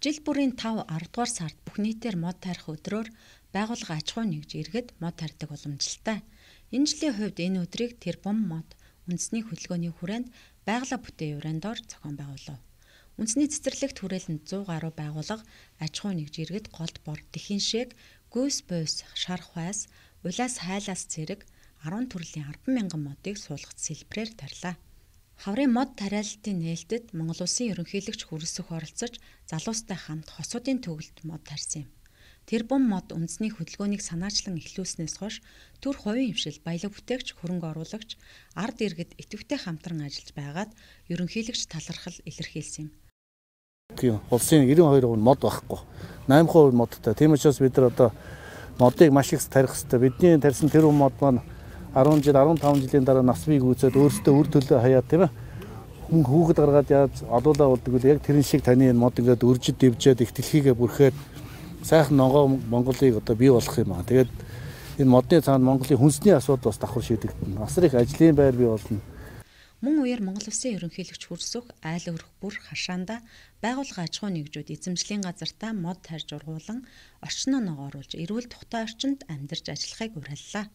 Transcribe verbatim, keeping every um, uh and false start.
Жил бүрийн тав аравдугаар сард бүх нийтээр мод тарих өдрөөр байгууллага аж ахуй нэгж иргэд мод тарьдаг уламжлалтай. Энэ жилийн хувьд энэ өдрийг Тэрбум мод үндэсний хөдөлгөөний хүрээнд байгалаа бүтээн урандор зохион байгуулав. Үндэсний цэцэрлэгт хүрээлэнд зуун гаруй байгууллага аж ахуй нэгж иргэд голд бор, дэлхийн шээг, гүйс буйс, шар хвайс, улаас хайлаас зэрэг арван төрлийн арван мянган модыг суулгах сэлбэрээр тарьлаа. Хаврын мод тариалалтын нээлтэд Монгол Улсын ерөнхийлөгч хүрэлцэх оролцож залуустай хамт хосуудын төгөлд мод тарьсан юм. Тэрбум мод үндэсний хөдөлгөөнийг санаачлан эхлүүлснээс хойш төр хувийн хвшил, баялаг бүтээгч, хөрөнгө оруулагч, ард иргэд идэвхтэй хамтран ажиллаж байгаад ерөнхийлөгч талархал илэрхийлсэн юм. Улсын ninety two хувь мод байхгүй. eighty percent модтой. Тийм учраас бид нар одоо модыг маш их тарих хэрэгтэй. Бидний тарьсан тэрбум мод маань ten жил, fifteen жилийн дараа нас бий гүйцээд өөрсдөө үр төлөө хаяад тийм ээ. Хүн хүүхэд гаргаад яаж олуулаа болдог вэ? Яг тэрэн шиг таны энэ мод ингээд өржид дэвжээд их дэлхийгээ бүрхээд сайхан ногоо Монголыг одоо бий болох юм аа. Тэгээд энэ модны цаанд Монголын хүнсний асуудал бас давхар шийдэгдэнэ. Асар их ажлын байр бий болно. Мөн үеэр Монгол Улсын ерөнхийлөгч хүрсөх айл өрх бүр хашаанда байгууллага аж ахуй нэгжүүд эзэмшлийн газартаа мод тарьж ургуулan орчноо ногооруулж эрүүл тухтай орчинд амьдарч ажиллахыг уриаллаа.